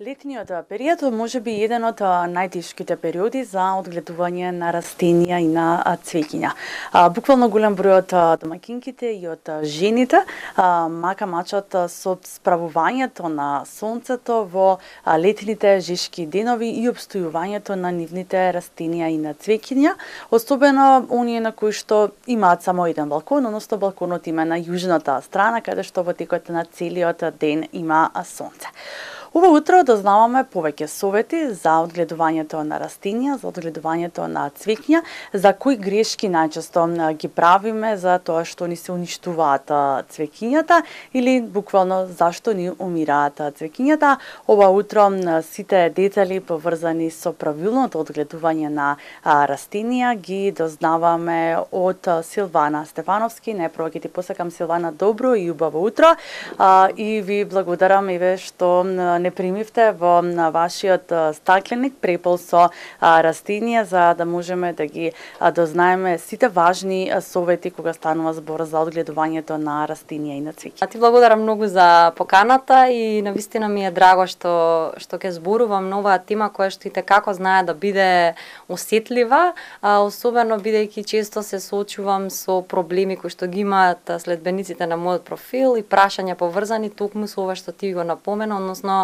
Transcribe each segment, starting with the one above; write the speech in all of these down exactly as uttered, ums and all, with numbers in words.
Летниот период може би еден од најтешките периоди за одгледување на растенија и на цвеќиња. Буквално голем број од домаќинките и од жените мака мачат со справувањето на сонцето во летните жешки денови и обстојувањето на нивните растенија и на цвеќиња, особено оние на кои што имаат само еден балкон, односно балконот има на јужната страна, каде што во текот на целиот ден има сонце. Ова утро дознаваме повеќе совети за одгледувањето на растенија, за одгледувањето на цвеќиња, за кои грешки најчесто ги правиме, за тоа што ни се уништуваат цвеќињата или буквално зашто ни умираат цвеќињата. Ова утро сите детали поврзани со правилното одгледување на растенија ги дознаваме од Силвана Стефановски. Најпрво ќе ти посакам, Силвана, добро и убаво утро и ви благодарам еве што не примивте во вашиот стакленик препол со растенија, за да можеме да ги дознаеме сите важни совети кога станува збор за одгледувањето на растенија и на цвеќа. Ти благодарам многу за поканата и навистина ми е драго што што ќе зборувам на оваа тема која што и како знае да биде осетлива, особено бидејќи често се соочувам со проблеми кои што ги имаат следбениците на мојот профил и прашања поврзани токму со ова што ти го напомена, односно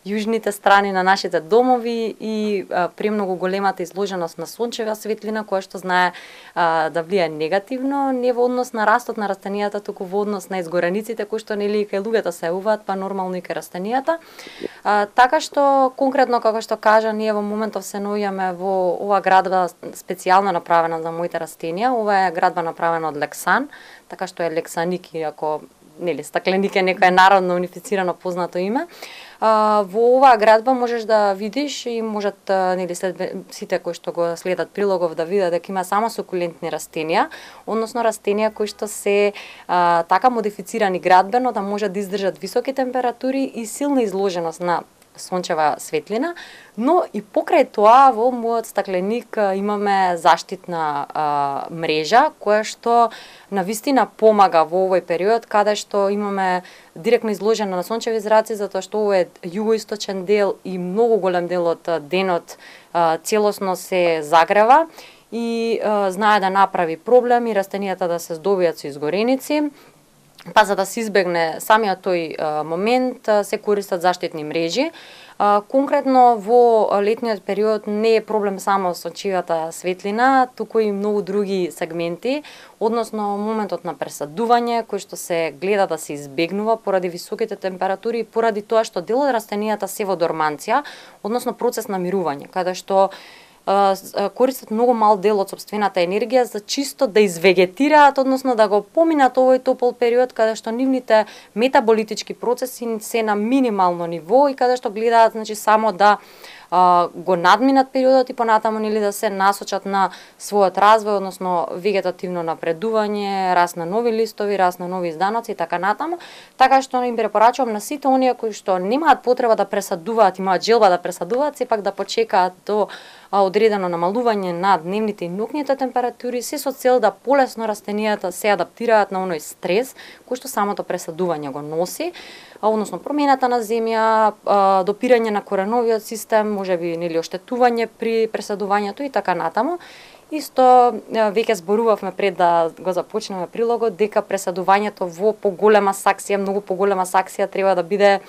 јужните страни на нашите домови и а, премногу големата изложеност на сончева светлина, која што знае а, да влијае негативно, не во однос на растот на растенијата, туку во однос на изгорениците кои што нели кај луѓето се јавуваат, па нормално и кај растенијата. А, така што конкретно како што кажа, ние во моментов се наоѓаме во ова градба специјално направена за моите растенија. Ова е градба направена од лексан, така што е лексаник, иако нели стакленик е некое народно унифицирано познато име. А, во оваа градба можеш да видиш и можат нели след, сите кои што го следат прилогов да видат дека има само сукулентни растенија, односно растенија кои што се а, така модифицирани градбено да можат да издржат високи температури и силна изложеност на сончева светлина, но и покрај тоа во мојот стакленик имаме заштитна а, мрежа која што навистина помага во овој период каде што имаме директно изложена на сончеви зраци, затоа што ова е југоисточен дел и многу голем дел од денот а, целосно се загрева и а, знае да направи проблем и растенијата да се здобијат со изгореници. Па за да се избегне самиот тој а, момент а, се користат заштитни мрежи. А, конкретно во летниот период не е проблем само со сончевата светлина, туку и многу други сегменти, односно моментот на пресадување кој што се гледа да се избегнува поради високите температури и поради тоа што дел од растенијата се во дорманција, односно процес на мирување, каде што користат многу мал дел од сопствената енергија за чисто да извегетираат, односно да го поминат овој топол период каде што нивните метаболитички процеси се на минимално ниво и каде што гледаат значи само да а, го надминат периодот и понатаму нели да се насочат на својот развој, односно вегетативно напредување, раст на нови листови, раст на нови изданоци и така натаму. Така што им препорачувам на сите оние кои што немаат потреба да пресадуваат, имаат желба да пресадуваат, сепак да почекаат до одредено намалување на дневните и ноќните температури, се со цел да полесно растенијата се адаптираат на оној стрес кој што самото пресадување го носи, односно промената на земја, допирање на кореновиот систем, можеби нели оштетување при пресадувањето и така натаму. Исто веќе зборувавме пред да го започнеме прилогот дека пресадувањето во поголема саксија, многу поголема саксија треба да биде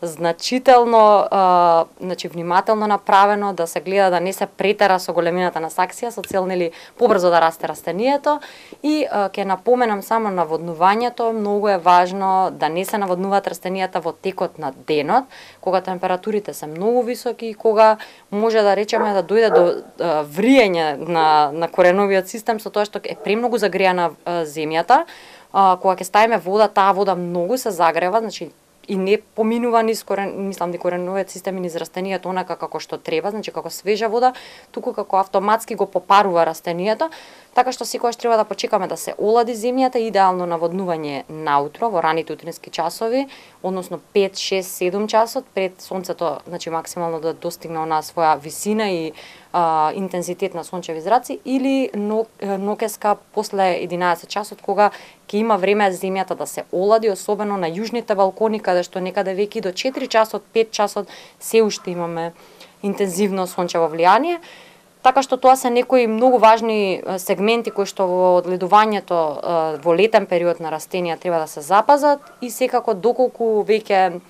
значително, а, значи внимателно направено, да се гледа да не се претера со големината на саксија, со цел нели побрзо да расте растенијето. И а, ќе напоменам само наводнувањето, многу е важно да не се наводнуваат растенијата во текот на денот, кога температурите се многу високи и кога може да речеме да дојде до а, вриење на на кореновиот систем со тоа што е премногу загреана а, земјата. А, кога ќе ставиме вода, таа вода многу се загрева, значи и не поминува низ корен, мислам дека кореновиот систем и низ растенијата онака како што треба, значи како свежа вода, туку како автоматски го попарува растенијата, така што секогаш треба да почекаме да се олади земјата, идеално наводнување наутро во раните утрински часови, односно пет, шест, седум часот пред сонцето, значи максимално да достигне онаа своја висина и а, интензитет на сончеви зраци, или ноќеска после единаесет часот, кога ќе има време земјата да се олади, особено на јужните балкони, каде што некаде веќе до четири часот, пет часот се уште имаме интензивно сончево влијание. Така што тоа се некои многу важни сегменти кои што во одгледувањето во летен период на растенија треба да се запазат, и секако доколку веќе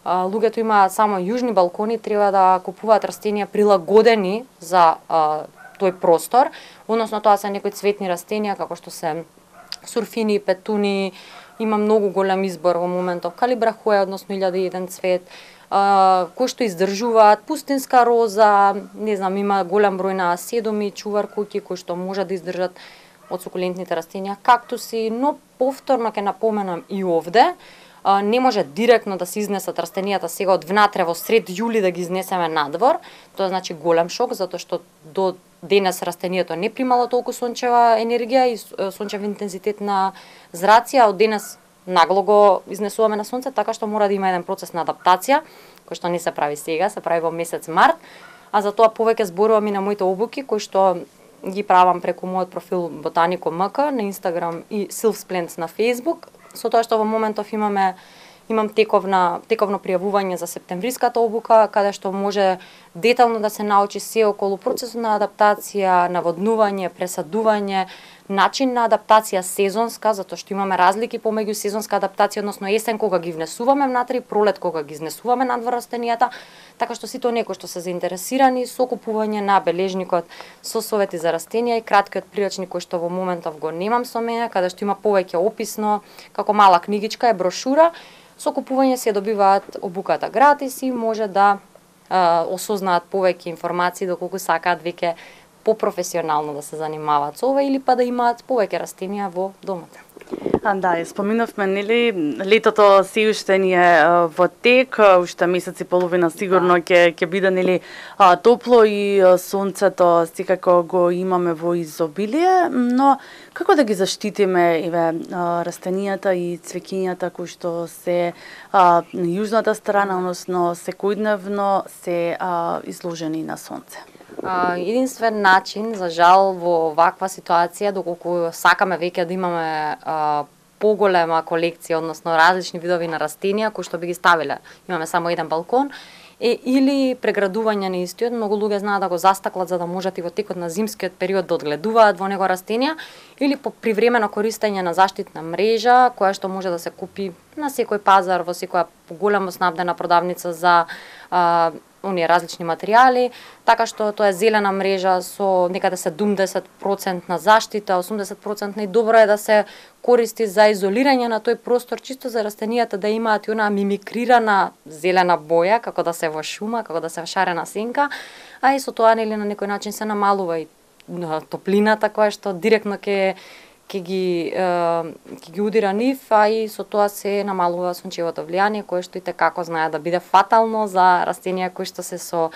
луѓето имаат само јужни балкони, треба да купуваат растенија прилагодени за а, тој простор, односно тоа се некои цветни растенија како што се сурфини, петуни, има многу голем избор во моментов, калибрахоја, односно илјада и еден цвет, Uh, кои што издржуваат, пустинска роза, не знам, има голем број на седоми, чувар куќи кои што може да издржат од сукулентните растенија, кактуси, но повторно ќе напоменам и овде, uh, не може директно да се изнесат растенијата сега од внатре во сред јули да ги изнесеме надвор. Тоа значи голем шок, затоа што до денес растението не примало толку сончева енергија и сончев интензитет на зраци, а од денес нагло го изнесуваме на сонце, така што мора да има еден процес на адаптација, кој што не се прави сега, се прави во месец март, а за тоа повеќе зборувам и на моите обуки, кои што ги правам преку мојот профил Ботанико ем ка на Инстаграм и Sylvsplants на Фејсбук, со тоа што во моментов имаме имам тековна, тековно пријавување за септемвриската обука, каде што може детално да се научи се околу процесот на адаптација, наводнување, пресадување, начин на адаптација сезонска, затоа што имаме разлики помеѓу сезонска адаптација, односно есен кога ги внесуваме внатре и пролет кога ги изнесуваме надвор растенијата, така што сите оние кои што се заинтересирани со купување на бележникот со совети за растенија и краткиот прирачник кој што во моментов го немам со мене, каде што има повеќе описно, како мала книгичка е брошура, со купување се добиваат обуката гратис и може да а, осознаат повеќе информации доколку сакаат веќе попрофесионално да се занимаваат со ова или па да имаат повеќе растенија во домот. А, да, споминавме, нели, летото се уште ни е во тек, уште месец и половина сигурно ќе ќе биде, нели, топло и сонцето секако го имаме во изобилие, но како да ги заштитиме еве растенијата и цвеќињата кои што се а, на јужната страна, односно секојдневно се а, изложени на сонце? Uh, единствен начин, за жал, во ваква ситуација, доколку сакаме веќе да имаме uh, поголема колекција, односно различни видови на растенија кои што би ги ставиле, имаме само еден балкон, е или преградување на истиот. Многу луѓе знаат да го застаклат за да можат и во текот на зимскиот период да одгледуваат во него растенија, или по привремено користење на заштитна мрежа, која што може да се купи на секој пазар, во секоја големо снабдена продавница за а, оние различни материјали, така што тоа е зелена мрежа со некаде седумдесет проценти на заштита, осумдесет проценти, и добро е да се користи за изолирање на тој простор, чисто за растенијата да имаат и она мимикрирана зелена боја, како да се во шума, како да се во шарена сенка, а и со тоа нели на некој начин се намалува и топлината која што директно ќе ќе ги ќе ги удира нив, а и со тоа се намалува сончевото влијание кое што и како знае да биде фатално за растенија кои што се со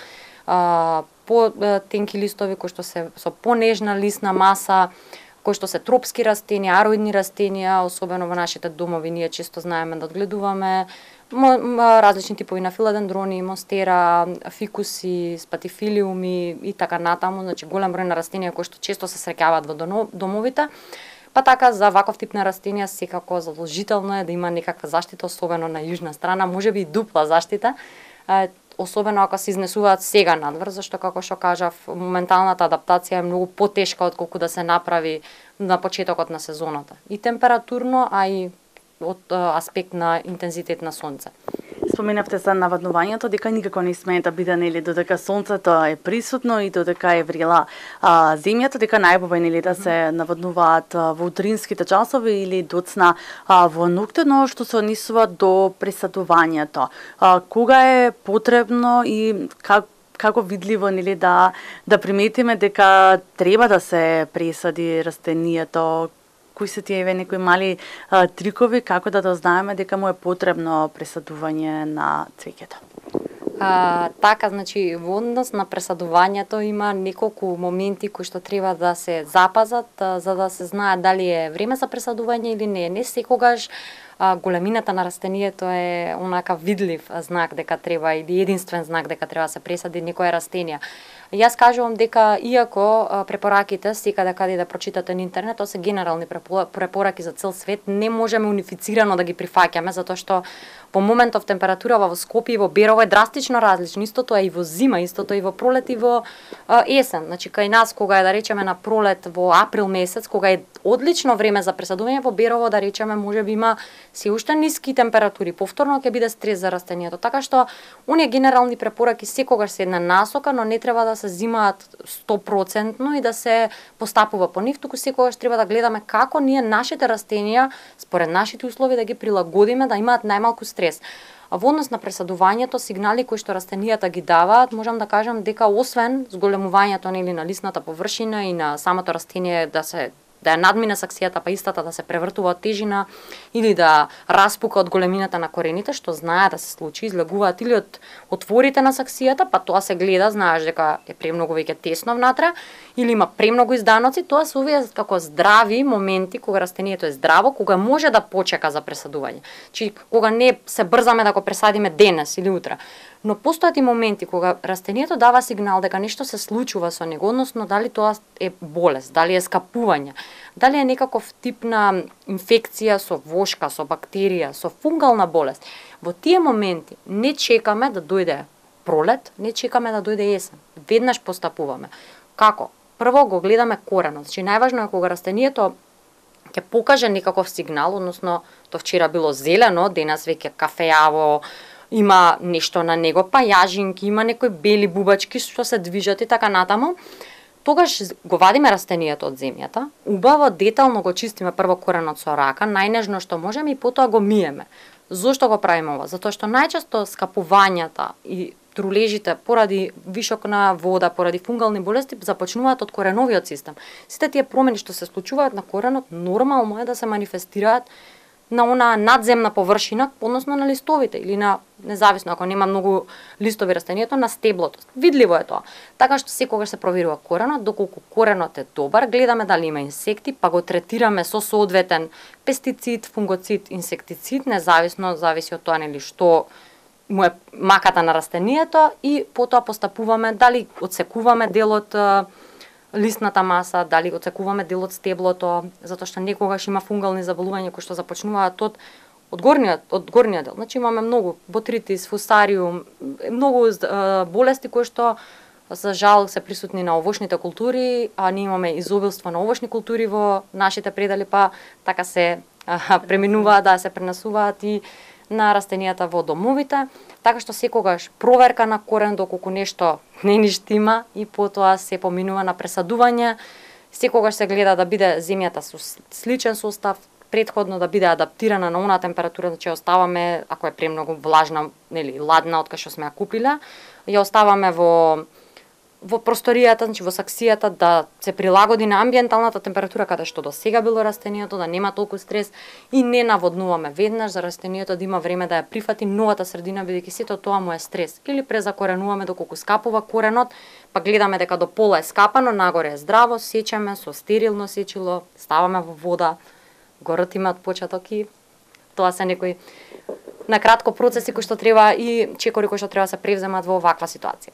а, по тенки листови, кои што се со понежна лисна маса, кои што се тропски растенија, ароидни растенија, особено во нашите домови ние често знаеме да одгледуваме различни типови на филадендрони, монстера, фикуси, спатифилиуми и така натаму, значи голем број на растенија кои што често се среќаваат во домовите. Па така за ваков тип на растенија секако задолжително е да има некаква заштита, особено на јужна страна, можеби и дупла заштита, особено ако се изнесуваат сега надвор, зашто како што кажав, моменталната адаптација е многу потешка отколку да се направи на почетокот на сезоната. И температурно, а и од аспект на интензитет на сонце. Споменавте за наводнувањето, дека никако не смее да биде, нели, додека сонцето е присутно и додека е врела а, земјата, дека најбобе, нели, да се наводнуваат а, во утринските часови или доцна а, во ноќте, но што се однесува до пресадувањето. А, кога е потребно и как како видливо, нели, да да приметиме дека треба да се пресади растенијето? Кои се тие еве некои мали а, трикови како да дознаеме дека му е потребно пресадување на цвеќето? А, така, значи, во однос на пресадувањето има неколку моменти кои што треба да се запазат, а, за да се знае дали е време за пресадување или не. Не секогаш а, големината на растението е онака видлив знак дека треба или единствен знак дека треба да се пресади некое растение. Јас кажувам дека иако а, препораките секаде каде да прочитате на интернет, тоа се генерални препораки за цел свет, не можеме унифицирано да ги прифаќаме затоа што во моментов температура во Скопје и во Берово е драстично различно. Истото е и во зима, истото е и во пролет и во а, есен. Значи кај нас кога е да речеме на пролет во април месец, кога е одлично време за пресадување, во Берово да речеме можеби има се уште ниски температури, повторно ќе биде стрес за растението. Така што оние генерални препораки секогаш се една насока, но не треба да се зимаат сто проценти и да се постапува по нив, туку секогаш треба да гледаме како ние нашите растенија според нашите услови да ги прилагодиме да имаат најмалку стрес. А во однос на пресадувањето, сигнали кои што растенијата ги даваат, можам да кажам дека освен зголемувањето нели на лисната површина и на самото растение да се да ја надмине саксијата, па истата да се превртува од тежина или да распука од големината на корените, што знае да се случи, излегуваат или од отворите на саксијата, па тоа се гледа, знаеш дека е премногу веќе тесно внатре, или има премногу изданоци, тоа се овие како здрави моменти кога растението е здраво, кога може да почека за пресадување. Чи кога не се брзаме да го пресадиме денес или утре. Но постојат и моменти кога растението дава сигнал дека нешто се случува со него, односно дали тоа е болест, дали е скапување, дали е некаков тип на инфекција со вошка, со бактерија, со фунгална болест. Во тие моменти не чекаме да дојде пролет, не чекаме да дојде есен. Веднаш постапуваме. Како? Прво го гледаме коренот. Значи најважно е кога растението ќе покаже некаков сигнал, односно тоа вчера било зелено, денес веќе кафеаво, има нешто на него, па јажинки, има некои бели бубачки што се движат и така натаму. Тогаш го вадиме растението од земјата, убаво детално го чистиме прво коренот со рака, најнежно што можеме и потоа го миеме. Зошто го правиме ова? Затоа што најчесто скапувањата и трулежите поради вишок на вода, поради фунгални болести започнуваат од кореновиот систем. Сите тие промени што се случуваат на коренот нормално е да се манифестираат на она надземна површина, односно на листовите или на, независно ако нема многу листови растението, на стеблото. Видливо е тоа. Така што секогаш се проверува коренот, доколку коренот е добар, гледаме дали има инсекти, па го третираме со соодветен пестицид, фунгоцид, инсектицид, независно, зависи од тоа нели што му е маката на растението и потоа постапуваме дали отсекуваме дел од листната маса, дали отсекуваме дел од стеблото, затоа што некогаш има фунгални заболувања кои што започнуваат од од горниот од горниот дел. Значи имаме многу ботритис, фусариум, многу е, болести кои што за жал се присутни на овошните култури, а ние имаме изобилство на овошни култури во нашите предели, па така се а, преминуваат, да се пренесуваат и на растенијата во домовите, така што секогаш проверка на корен доколку нешто не ни штима и потоа се поминува на пресадување. Секогаш се гледа да биде земјата со сличен состав, претходно да биде адаптирана на онаа температура, значи ја оставаме ако е премногу влажна, нели ладна од кај што сме ја купиле, ја оставаме во во просторијата, значи во саксијата да се прилагоди на амбиенталната температура каде што до сега било растението, да нема толку стрес и не наводнуваме веднаш за растението да има време да ја прифати новата средина бидејќи сето тоа му е стрес. Или презакоренуваме доколку скапува коренот, па гледаме дека до пола е скапано, нагоре е здраво, сечеме со стерилно сечило, ставаме во вода, го ртиме од почеток и тоа се некои на кратко процеси кои што треба и чекори кои што треба да се превземат во оваква ситуација.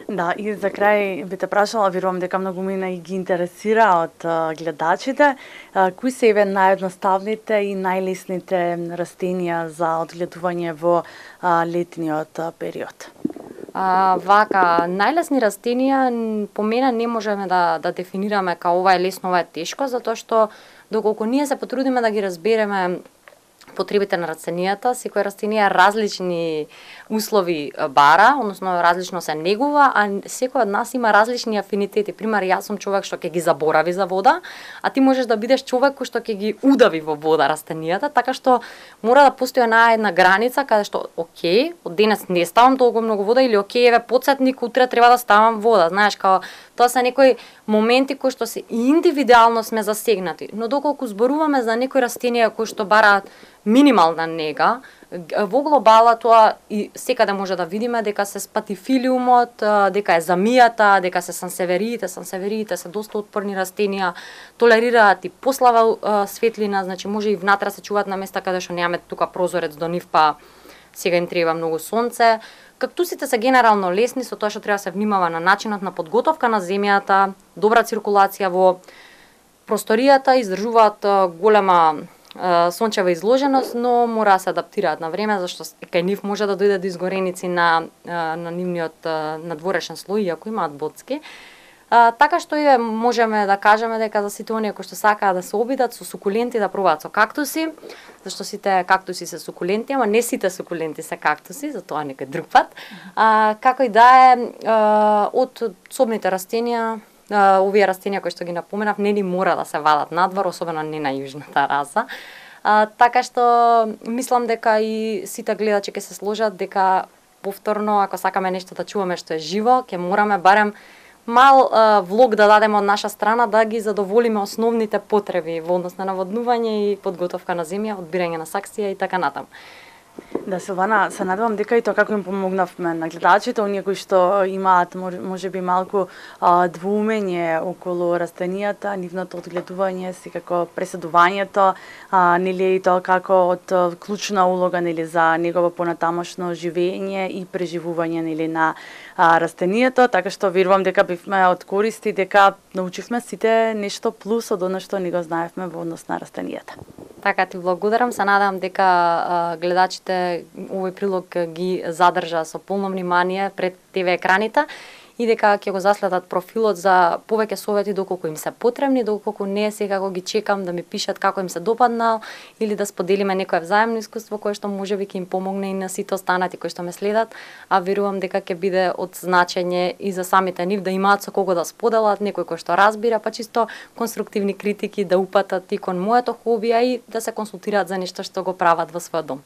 Да, и за крај би те прашала, верувам дека многу мина и ги интересира од а, гледачите, а, кои се еве наједноставните и најлесните растенија за одгледување во а, летниот а, период? А, вака, најлесни растенија по мене не можеме да, да дефинираме као ова е лесно, ова е тешко, затоа што доколку ние се потрудиме да ги разбереме потребите на растенијата, секој растенија различни услови бара, односно различно се негува, а секој од нас има различни афинитети. Пример, јас сум човек што ќе ги заборави за вода, а ти можеш да бидеш човек кој што ќе ги удави во вода растенијата, така што мора да постои една една граница каде што окей, од денес не ставам толку многу вода или окей, еве потсетник, утре треба да ставам вода. Знаеш, као тоа се некои моменти кои што се индивидуално сме засегнати, но доколку зборуваме за некои растенија кои што бараат минимална нега. Во глобала тоа и секаде може да видиме дека се спатифилиумот, дека е замијата, дека се сансевериите, сансевериите се доста отпорни растенија, толерираат и послаба светлина, значи може и внатре се чуваат на места каде што немаме тука прозорец до нив, па сега им треба многу сонце. Кактусите се генерално лесни, со тоа што треба да се внимава на начинот на подготовка на земјата, добра циркулација во просторијата, издржуваат голема сончева изложеност, но мора да се адаптираат на време, зашто кај нив може да дојде до изгореници на, на нивниот надворешен слој, иако имаат боцки. А, така што и можеме да кажеме дека за сите оние кои што сакаат да се обидат со сукуленти, да пробаат со кактуси, зашто сите кактуси се сукуленти, ама не сите сукуленти се кактуси, затоа некој друг пат. А, како и да е, од собните растенија, Uh, овие растенија кои што ги напоменав не ни мора да се вадат надвор, особено не на јужната раса. Uh, така што мислам дека и сите гледачи ќе се сложат дека повторно ако сакаме нешто да чуваме што е живо, ќе мораме барем мал uh, влог да дадеме од наша страна да ги задоволиме основните потреби во однос на наводнување и подготовка на земја, одбирање на саксија и така натаму. Да, Силвана, се надевам дека и тоа како им помогнавме на гледачите, оние кои што имаат може би малку а, двоумење околу растенијата, нивното одгледување, секако преседувањето, а, нели и тоа како од клучна улога нели за негово понатамошно живење и преживување нели на а, растенијето, така што верувам дека бивме од користи, дека научивме сите нешто плюс од она што не го знаевме во однос на растенијата. Така ти благодарам, се надевам дека а, гледачите овој прилог ги задржа со полно внимание пред те ве екраните и дека ќе го заследат профилот за повеќе совети доколку им се потребни, доколку не секако ги чекам да ми пишат како им се допаднал или да споделиме некое взаемно искуство кое што можеби ќе им помогне и на сите останати кои што ме следат, а верувам дека ќе биде од значење и за самите нив да имаат со кого да споделат, некој кој што разбира, па чисто конструктивни критики да упатат и кон моето хоби, а и да се консултираат за нешто што го прават во својот дом.